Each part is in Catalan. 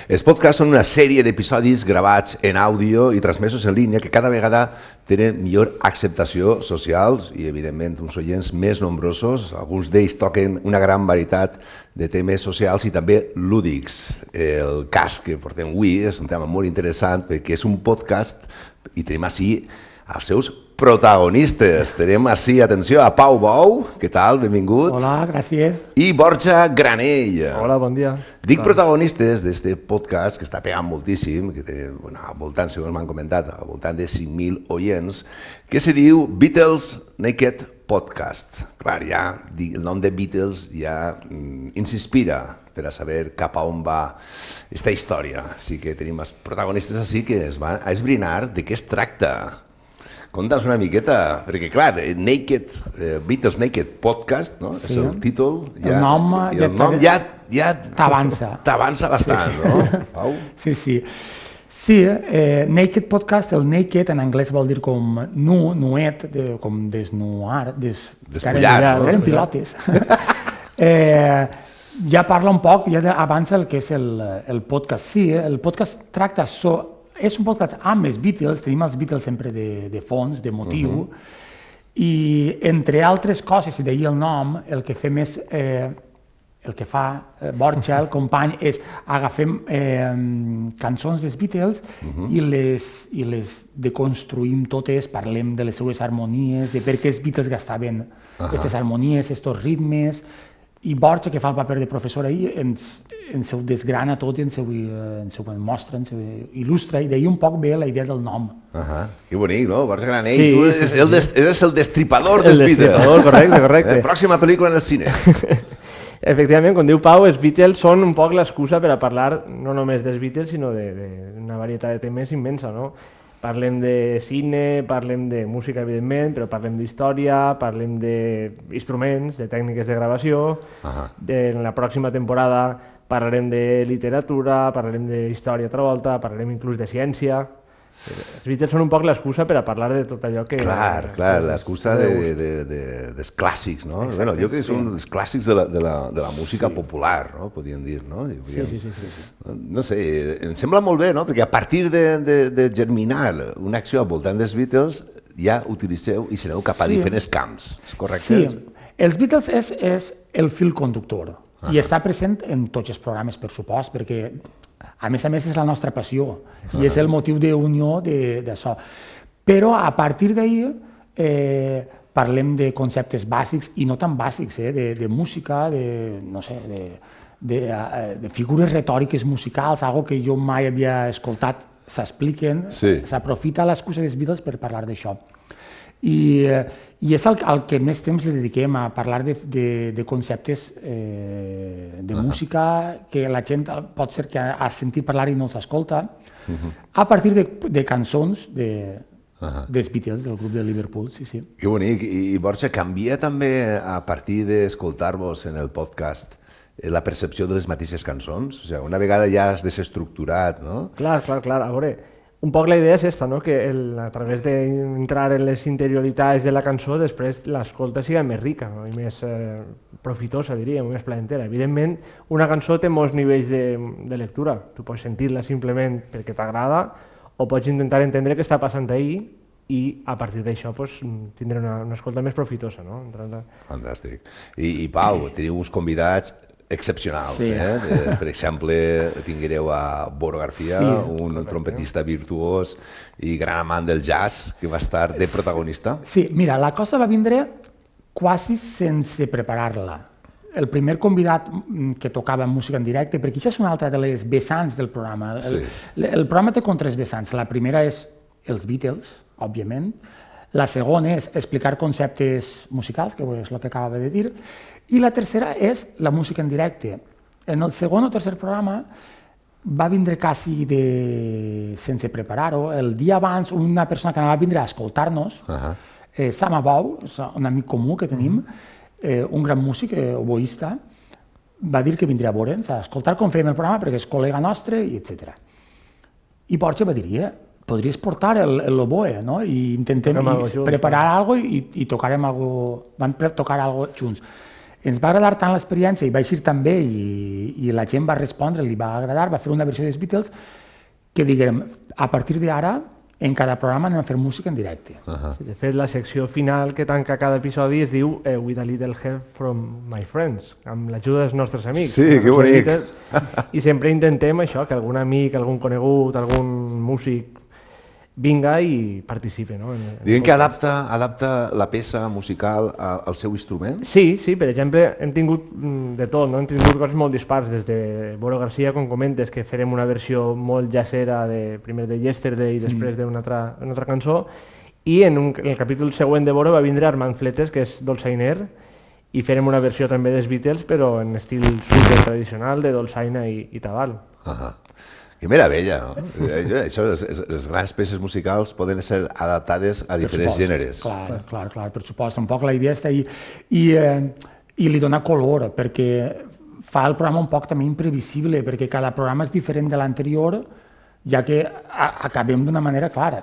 Els podcasts són una sèrie d'episodis gravats en àudio i transmesos en línia que cada vegada tenen millor acceptació social i, evidentment, uns oients més nombrosos. Alguns d'ells toquen una gran varietat de temes socials i també lúdics. El cas que portem avui és un tema molt interessant perquè és un podcast i tenim així els seus protagonistes. Tenim així, atenció, a Pau Bou. Què tal? Benvingut. Hola, gràcies. I Borja Granell. Hola, bon dia. Dic protagonistes d'este podcast que està pegant moltíssim, que té, al voltant, segons m'han comentat, al voltant de 5.000 oients, que se diu Beatles Naked Podcast. Clar, ja el nom de Beatles ja ens inspira per a saber cap a on va esta història. Així que tenim els protagonistes així que es van a esbrinar de què es tracta. Conta'ns una miqueta, perquè clar, Beatles Naked Podcast, no? És el títol. El nom ja t'avança. T'avança bastant, no? Pau? Sí. Sí, Naked Podcast, el naked en anglès vol dir com nuet, com desnuar, despullar, no? Eren pilotes. Ja parla un poc, ja avança el que és el podcast. Sí, el podcast tracta és un podcast amb els Beatles, tenim els Beatles sempre de fons, de motiu, i entre altres coses, i d'ahir el nom, el que fem és, el que fa Borja, el company, és agafem cançons dels Beatles i les deconstruïm totes, parlem de les seues harmonies, de per què els Beatles gastaven aquestes harmonies, aquests ritmes, i Borja, que fa el paper de professor ahir, ens ho desgrana tot, ens ho mostra, ens ho il·lustra, i d'ahir un poc ve la idea del nom. Que bonic, no? Borja Granell, tu eres el destripador dels Beatles. El destripador, correcte. Pròxima pel·lícula en els cines. Efectivament, com diu Pau, els Beatles són un poc l'excusa per a parlar no només dels Beatles, sinó d'una varietat de temes immensa, no? Parlem de cine, parlem de música, evidentment, però parlem d'història, parlem d'instruments, de tècniques de gravació. En la pròxima temporada parlarem de literatura, parlarem d'història altra volta, parlarem inclús de ciència. Els Beatles són un poc l'excusa per a parlar de tot allò que... Clar, l'excusa dels clàssics, no? Bueno, jo crec que són els clàssics de la música popular, no? Podríem dir, no? Sí. No sé, em sembla molt bé, no? Perquè a partir de germinar una acció al voltant dels Beatles ja utilitzeu i sereu cap a diferents camps, és correcte? Sí, els Beatles és el fil conductor i està present en tots els programes, per supost, perquè a més és la nostra passió i és el motiu d'unió d'això. Però a partir d'ahir parlem de conceptes bàsics i no tan bàsics, de música, de figures retòriques musicals, algo que jo mai havia escoltat, s'expliquen, s'aprofita l'excusa dels Beatles per parlar d'això. I és el que més temps li dediquem a parlar de conceptes de música que la gent pot ser que ha sentit parlar i no els escolta, a partir de cançons dels Beatles, del grup de Liverpool, sí. Que bonic. I Borja, canvia també a partir d'escoltar-vos en el podcast la percepció de les mateixes cançons? O sigui, una vegada ja has desestructurat, no? Clar, a veure... Un poc la idea és esta, no? Que a través d'entrar en les interioritats de la cançó, després l'escolta sigui més rica, no? I més profitosa, diríem, més placentera. Evidentment, una cançó té molts nivells de lectura. Tu pots sentir-la simplement perquè t'agrada o pots intentar entendre què està passant ahir i a partir d'això tindre una escolta més profitosa. No? Fantàstic. I Pau, teniu uns convidats excepcionals. Per exemple, tinguereu a Boro García, un trompetista virtuós i gran amant del jazz, que va estar de protagonista. Sí, mira, la cosa va vindre quasi sense preparar-la. El primer convidat que tocava música en directe, perquè això és una altra de les vessants del programa. El programa té com 3 vessants. La primera és els Beatles, òbviament. La segona és explicar conceptes musicals, que és el que acabava de dir. I la tercera és la música en directe. En el segon o tercer programa va vindre quasi sense preparar-ho. El dia abans, una persona que anava a vindre a escoltar-nos, Sam Abou, un amic comú que tenim, un gran músic, oboista, va dir que vindria a veure'ns, a escoltar com fèiem el programa, perquè és col·lega nostre, etc. I Borja va dir, podries portar l'oboe, no? I intentem preparar alguna cosa i tocarem alguna cosa, van tocar alguna cosa junts. Ens va agradar tant l'experiència i va eixir tan bé i i la gent va respondre, li va agradar, va fer una versió dels Beatles que diguem, a partir d'ara, en cada programa anem a fer música en directe. De fet, la secció final que tanca cada episodi es diu With a little help from my friends, amb l'ajuda dels nostres amics. Sí, que bonic. I sempre intentem això, que algun amic, algun conegut, algun músic vinga i participi. No? Diguem que adapta la peça musical al seu instrument? Sí, per exemple, hem tingut de tot, no? Hem tingut coses molt dispars, des de Boro Garcia, com comentes, que farem una versió molt jazzera, primer de Yesterday i després d'una altra cançó, i en el capítol següent de Boro va vindre Armand Fletes, que és dolçainer, i farem una versió també dels Beatles, però en estil super tradicional de dolçaina i tabal. Que meravella, no? Això, les grans peces musicals poden ser adaptades a diferents gèneres. Clar, per supost. Un poc la idea està ahí. I li dona color, perquè fa el programa un poc també imprevisible, perquè cada programa és diferent de l'anterior, ja que acabem d'una manera clara.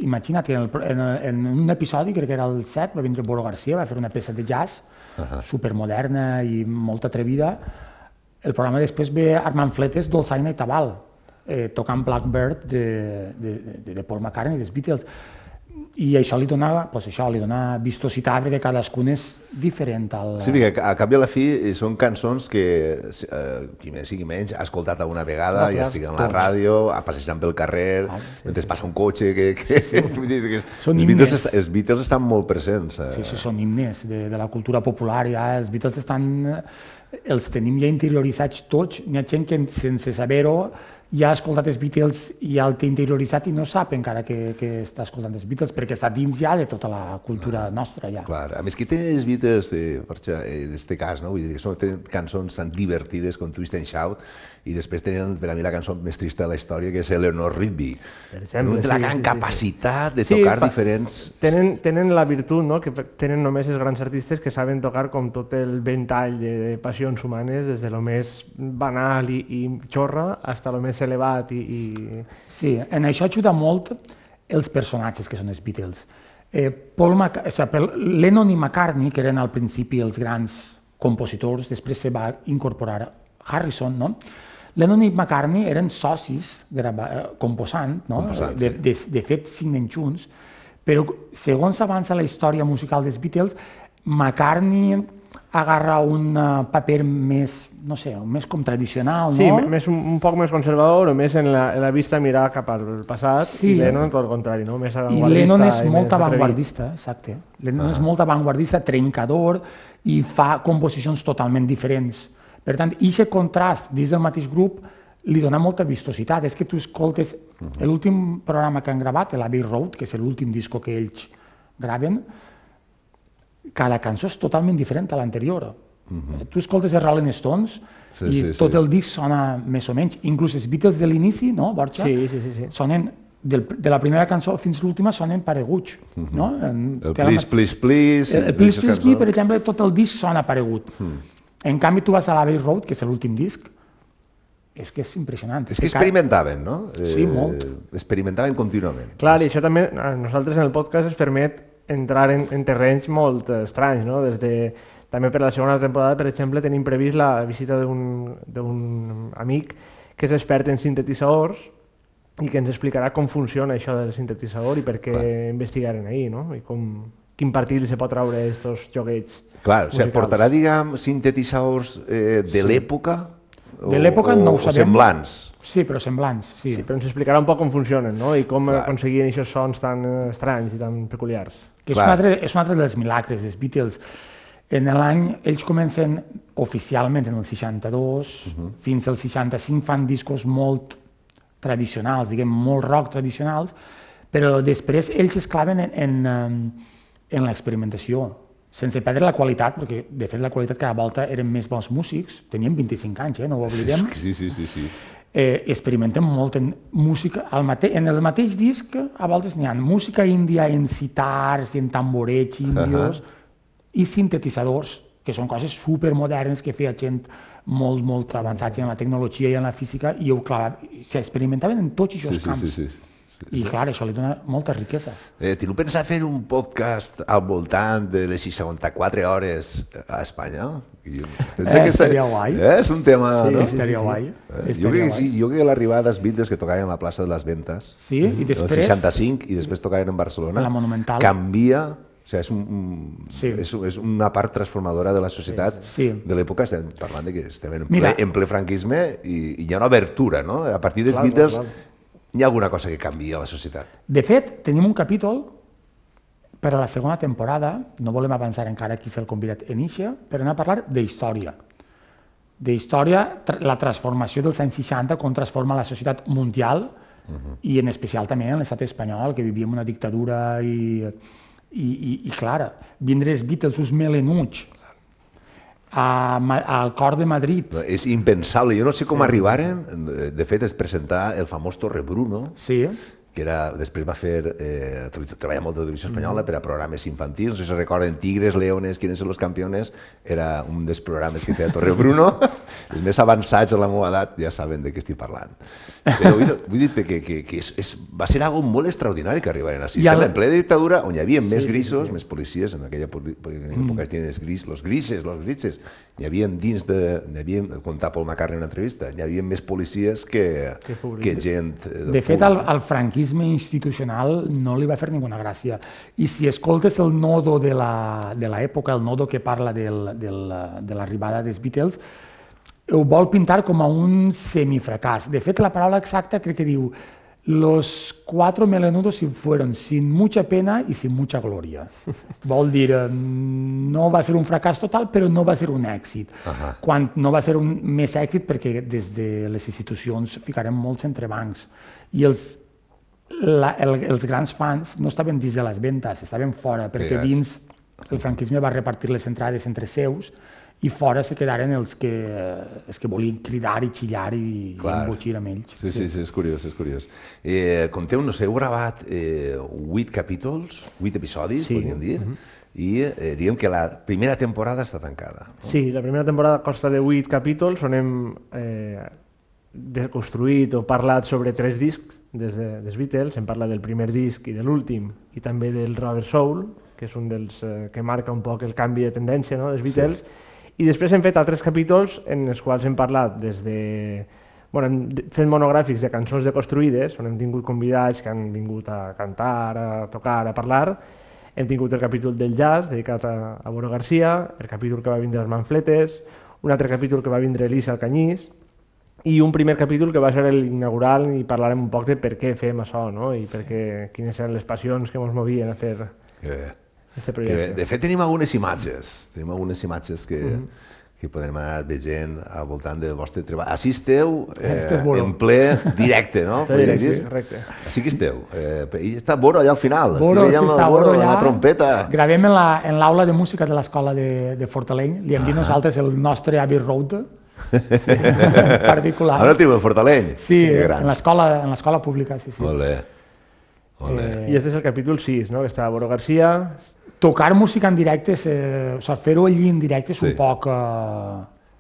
Imagina't que en un episodi, crec que era el 7, va vindre Boro Garcia, va fer una peça de jazz supermoderna i molt atrevida. El programa després ve Armand Fletes, dolçaina i tabal, tocant Blackbird de Paul McCartney, dels Beatles. I això li dona vistositat, perquè cadascun és diferent. Sí, perquè a cap i a la fi són cançons que qui més sigui menys ha escoltat alguna vegada, ja sigui en la ràdio, passejant pel carrer, mentre passa un cotxe... Són himnes. Els Beatles estan molt presents. Sí, són himnes de la cultura popular. Els Beatles els tenim ja interioritzats tots. N'hi ha gent que sense saber-ho ja ha escoltat els Beatles i ja el té interioritzat i no sap encara que està escoltant els Beatles, perquè està dins ja de tota la cultura nostra. Ja. Clar, a més que tenen els Beatles, en aquest cas, no? Vull dir que tenen cançons tan divertides com Twist and Shout, i després tenen per a mi la cançó més trista de la història, que és Eleanor Rigby. Tenen la gran capacitat de tocar diferents... Tenen la virtut, no? Que tenen només els grans artistes que saben tocar com tot el ventall de passions humanes, des de lo més banal i xorra fins a lo més elevat Sí, en això ajuda molt els personatges que són els Beatles. Lennon i McCartney, que eren al principi els grans compositors, després se va incorporar Harrison, no? Lennon i McCartney eren socis composant, no? De fet signen junts, però segons avança la història musical dels Beatles, McCartney agarra un paper més, no sé, més com tradicional, no? Sí, un poc més conservador o més en la vista mirar cap al passat, i Lennon tot el contrari, no? Més avantguardista. I Lennon és molt avantguardista, exacte. Lennon és molt avantguardista, trencador, i fa composicions totalment diferents. Per tant, aquest contrast dins del mateix grup li dona molta vistositat. És que tu escoltes l'últim programa que han gravat, l'Abbey Road, que és l'últim disco que ells graven, cada cançó és totalment diferent a l'anterior. Tu escoltes els Rolling Stones i tot el disc sona més o menys, inclús els Beatles de l'inici, no, Borja? Sí. Sonen, de la primera cançó fins a l'última, sonen pareguts. El Please, Please, Please... El Please, Please, Please, per exemple, tot el disc sona paregut. En canvi, tu vas a l'Abbey Road, que és l'últim disc, és que és impressionant. És que experimentaven, no? Sí, molt. Experimentaven contínuament. Clar, i això també a nosaltres en el podcast ens permet entrar en terrenys molt estranys, no? També per la segona temporada, per exemple, tenim previst la visita d'un amic que és expert en sintetitzadors i que ens explicarà com funciona això del sintetitzador i per què investigaren ahir, no? I quin partit se pot treure d'aquests joguets. Clar, o sigui, portarà, diguem, sintetitzadors de l'època? De l'època no ho sabem. O semblants? Sí, però semblants, sí. Però ens explicarà un poc com funcionen, no? I com aconseguien aquests sons tan estranys i tan peculiars. És un altre dels milagres dels Beatles. En l'any, ells comencen oficialment en el 62, fins al 65 fan discos molt tradicionals, diguem, molt rock tradicionals, però després ells es claven en l'experimentació, sense perdre la qualitat, perquè de fet la qualitat cada volta eren més bons músics, tenien 25 anys, no ho oblidem. Sí. Experimenten molt en música, en el mateix disc a voltes n'hi ha música índia en sitars i en tamborets índios i sintetitzadors, que són coses supermodernes que feia gent molt avançats en la tecnologia i en la física, i s'experimentaven en tots aquests camps. I, clar, això li dona molta riquesa. Teniu pensat fer un podcast al voltant de les 64 hores a Espanya? Estaria guai. És un tema, no? Sí, estaria guai. Jo crec que l'arribada dels Beatles que tocaren a la plaça de les Ventes, i després... el 65, i després tocaren en Barcelona, la Monumental, canvia... O sigui, és una part transformadora de la societat de l'època. Estem parlant de que estem en ple franquisme i hi ha una obertura, no? A partir dels Beatles hi ha alguna cosa que canvia a la societat. De fet, tenim un capítol per a la segona temporada, no volem avançar encara qui s'ha convidat en eixa, per anar a parlar d'història. D'història, la transformació dels anys 60, com transforma la societat mundial i en especial també en l'estat espanyol, que vivíem una dictadura i clar, vindre els Beatles, uns melenuts, al cor de Madrid. És impensable, jo no sé com arribaren, de fet es presentà el famós Torre Bruno, que després va fer, treballa molt de televisió espanyola per a programes infantils, no sé si recorden Tigres, Leones, Quiénes son los campeones, era un dels programes que feia Torre Bruno, els més avançats a la meva edat ja saben de què estic parlant. Però vull dir que va ser algo molt extraordinari que arribaren així. Estem en ple de dictadura, on hi havia més grisos, més policies, en aquella època es tenien los grises, hi havia dins contar Paul McCartney en una entrevista, hi havia més policies que gent... De fet, al franquisme institucional no li va fer ninguna gràcia. I si escoltes el nodo de l'època, el nodo que parla de l'arribada dels Beatles, ho vol pintar com a un semifracàs. De fet, la paraula exacta crec que diu los 4 melenudos se fueron sin mucha pena y sin mucha gloria. Vol dir, no va ser un fracàs total, però no va ser un èxit. Quan no va ser un més èxit perquè des de les institucions ficarem molts entrebancs. I els grans fans no estaven dins de les ventes, estaven fora, perquè dins el franquisme va repartir les entrades entre seus i fora se quedaren els que volien cridar i xillar i embotxir amb ells. Sí, és curiós, és curiós. Conteu, no sé, heu gravat 8 capítols, 8 episodis, podríem dir, i diguem que la primera temporada està tancada. Sí, la primera temporada consta de 8 capítols on hem construït o parlat sobre 3 discs dels Beatles. Hem parlat del primer disc i de l'últim, i també del Rubber Soul, que és un dels que marca un poc el canvi de tendència dels Beatles. I després hem fet altres capítols en els quals hem parlat des de... hem fet monogràfics de cançons deconstruïdes, on hem tingut convidats que han vingut a cantar, a tocar, a parlar. Hem tingut el capítol del jazz, dedicat a Boro Garcia, el capítol que va vindre els Manfletes, un altre capítol que va vindre Elisa Alcañís, i un primer capítol que va ser l'inaugural i parlarem un poc de per què fem això, i quines eren les passions que ens movien a fer aquest projecte. De fet, tenim algunes imatges que podem anar veient al voltant del vostre treball. Així esteu en ple directe, no? Sí, correcte. Així que esteu. I està Boro allà al final. Boro, sí, està Boro allà. La trompeta. Gravem en l'aula de música de l'escola de Fortaleny. Li hem dit nosaltres el nostre Abbey Road particular. Ara el teniu en Fortaleny? Sí, en l'escola pública, sí. Molt bé. I aquest és el capítol 6, que està Boro Garcia. Tocar música en directe, fer-ho allí en directe és un poc...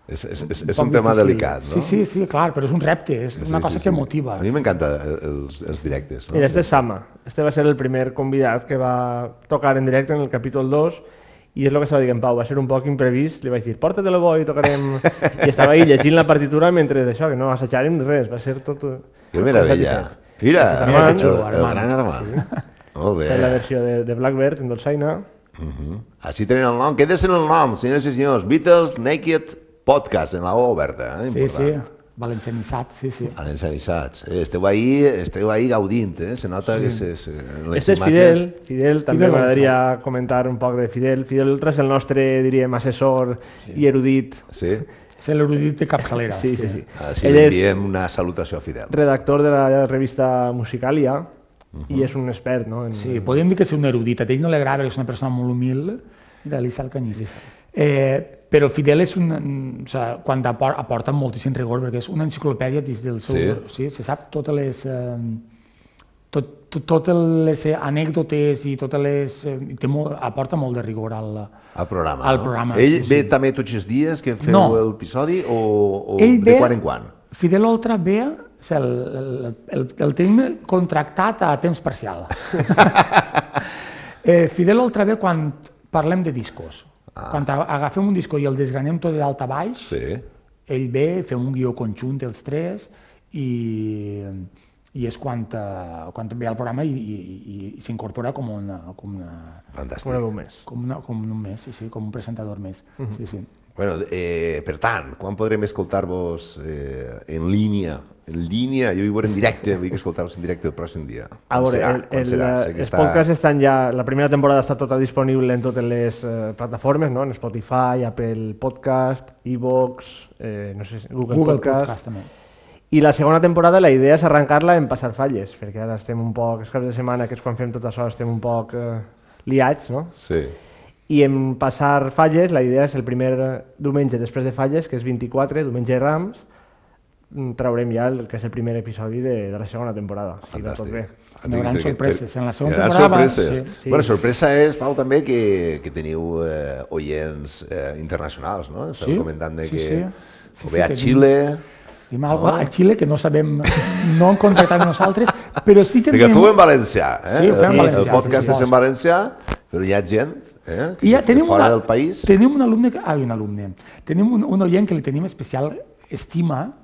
És un tema delicat, no? Sí, clar, però és un repte, és una cosa que motiva. A mi m'encanten els directes. I este és Sama. Este va ser el primer convidat que va tocar en directe en el capítol 2, i és el que estava dient Pau, va ser un poc imprevist, li vaig dir, porta-te-lo bo i tocarem... I estava ahí llegint la partitura mentre d'això, que no assajàrem res, va ser tot... Que meravella! Mira, el gran Armand. Molt bé. La versió de Blackbird, en dolçaina. Així tenen el nom. Quedes en el nom, senyors i senyors. Beatles Naked Podcast, en la O oberta. Sí, valencianitzat, sí. Valencianitzats. Esteu ahí gaudint, se nota que les imatges... Este és Fidel, també m'agradaria comentar un poc de Fidel. Fidel Ultra és el nostre, diríem, assessor i erudit. Sí. És l'erudit de capçalera. Sí. Així li enviem una salutació a Fidel. Redactor de la revista Musicalia, i és un expert, no? Sí, podríem dir que és un erudit. A ell no li agrada, és una persona molt humil, d'Elisa Alcañís. Però Fidel és quan aporta moltíssim rigor, perquè és una enciclopèdia dins del seu... Sí, se sap totes les anècdotes i totes les... aporta molt de rigor al programa. Ell ve també tots els dies que feu l'episodi o de quan en quan? Fidel Ultra ve El tenim contractat a temps parcial. Fidel el troba quan parlem de discos. Quan agafem un disco i el desgranem tot de dalt a baix, ell ve, fem un guió conjunt els tres i és quan ve al programa i s'incorpora com un mes. Com un mes, sí, com un presentador més. Sí, sí. Bueno, per tant, quan podrem escoltar-vos en línia? En línia, jo hi veuré en directe, vull escoltar-vos en directe el pròxim dia. A veure, els podcasts estan ja... La primera temporada està tota disponible en totes les plataformes, no? En Spotify, Apple Podcast, iVoox, no sé, Google Podcast també. I la segona temporada la idea és arrencar-la en passar falles, perquè ara estem un poc, els caps de setmana, que és quan fem tot això, estem un poc liats, no? Sí. I en passar falles, la idea és el primer diumenge després de falles, que és 24, diumenge de Rams, traurem ja el que és el primer episodi de la segona temporada. Fantàstic. Hi haurà sorpreses. En la segona temporada... Sí. Bueno, sorpresa és, Pau, també que teniu oients internacionals, no? Estàveu comentant que o bé a Xile... Tenim alguna cosa a Xile que no sabem, no hem contractat nosaltres, però sí que... Perquè feu en valencià, Sí, ho fem en valencià. El podcast és en valencià, però hi ha gent fora del país... Tenim un alumne... Tenim un oient que li tenim especial estima,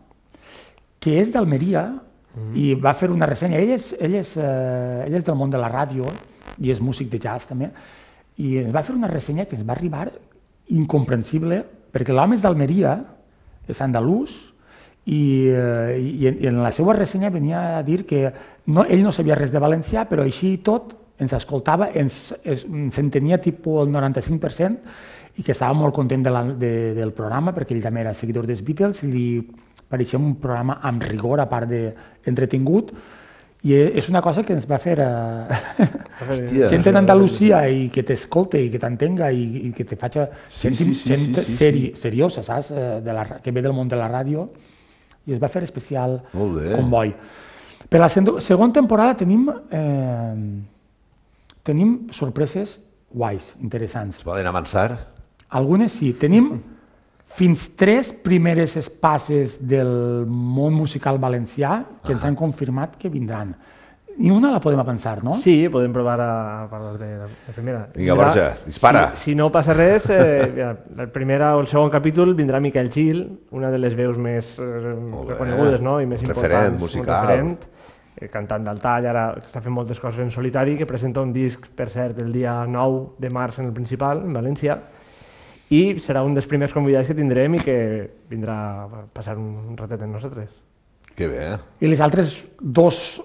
que és d'Almeria i va fer una ressenya. Ell és del món de la ràdio i és músic de jazz també, i va fer una ressenya que ens va arribar incomprensible, perquè l'home és d'Almeria, és andalús, i en la seva ressenya venia a dir que ell no sabia res de valencià, però així i tot ens escoltava, s'entenia tipus el 95%, i que estava molt content del programa, perquè ell també era seguidor dels Beatles, i li pareixia un programa amb rigor, a part d'entretingut, i és una cosa que ens va fer gent d'Andalusia i que t'escolta i que t'entenga i que te faci gent seriosa, saps? Que ve del món de la ràdio, i es va fer especial comboi. Per la segona temporada tenim sorpreses guais, interessants. Es poden avançar? Algunes sí. Tenim fins 3 primeres espases del món musical valencià que ens han confirmat que vindran. Ni una la podem avançar, no? Sí, podem provar a parlar de la primera. Vinga, Borja, dispara. Si no passa res, el primer o el segon capítol vindrà Miquel Gil, una de les veus més reconegudes, no? I més importants. Referent musical. Cantant del tall, ara està fent moltes coses en solitari, que presenta un disc, per cert, el dia 9 de març en el Principal, en València, i serà un dels primers convidats que tindrem i que vindrà a passar un ratet amb nosaltres. Que bé. I les altres 2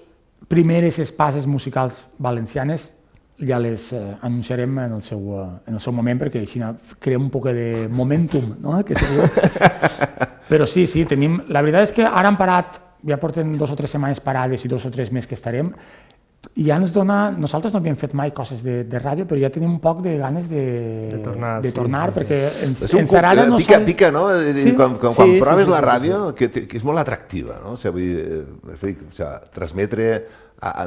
primeres espases musicals valencianes ja les anunciarem en el seu moment, perquè així creem un poc de momentum, no? Però sí, tenim... La veritat és que ara han parat, ja porten 2 o 3 setmanes parades i 2 o 3 més que estarem, i ja ens dona... Nosaltres no havíem fet mai coses de ràdio, però ja tenim un poc de ganes de tornar, perquè ens agrada... Pica, no? Quan proves la ràdio, que és molt atractiva, no? Transmetre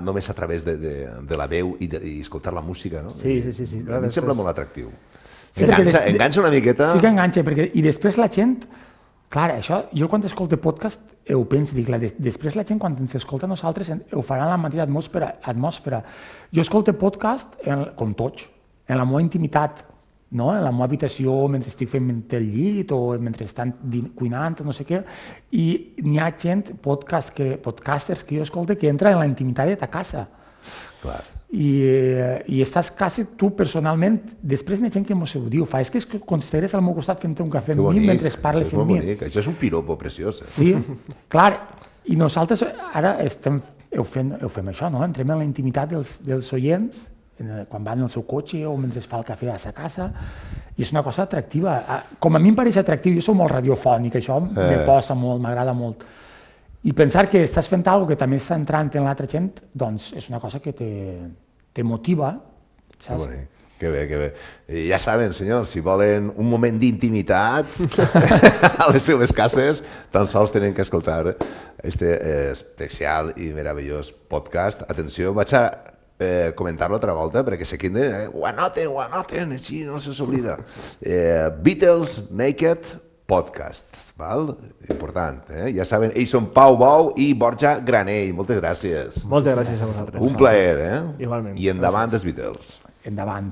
només a través de la veu i escoltar la música, no? Sí. A mi em sembla molt atractiu. Enganxa una miqueta... Sí que enganxa, i després la gent... Clar, això, jo quan escolto podcast ho penso, dic, després la gent quan ens escolta a nosaltres ho farà en la mateixa atmosfera. Jo escolto podcast, com tots, en la meva intimitat, no? En la meva habitació, mentre estic fent el llit o mentre estan cuinant o no sé què, i n'hi ha gent, podcasters que jo escolto, que entra en la intimitat de ta casa. Clar. I estàs quasi tu personalment, després n'hi ha gent que m'ho diu, és que consideres al meu costat fent un cafè amb mi mentre parles amb mi. Això és un piropo preciós. Sí, clar, i nosaltres ara fem això, no? Entrem en la intimitat dels oients, quan van al seu cotxe o mentre es fa el cafè a sa casa, i és una cosa atractiva. Com a mi em pareix atractiu, jo soc molt radiofònic, això me posa molt, m'agrada molt. I pensar que estàs fent alguna cosa que també està entrant en l'altra gent, doncs és una cosa que te motiva, saps? Que bé. Ja saben, senyors, si volen un moment d'intimitat a les seves cases, tan sols tenen que escoltar este especial i meravellós podcast. Atenció, vaig a comentar-lo altra volta perquè se queden, ho anoten, així no se s'oblida. Beatles Naked Podcast, val? Important, Ja saben, ells són Pau Bou i Borja Granell. Moltes gràcies. Moltes gràcies a vosaltres. Un plaer, Igualment. I endavant els Beatles. Endavant.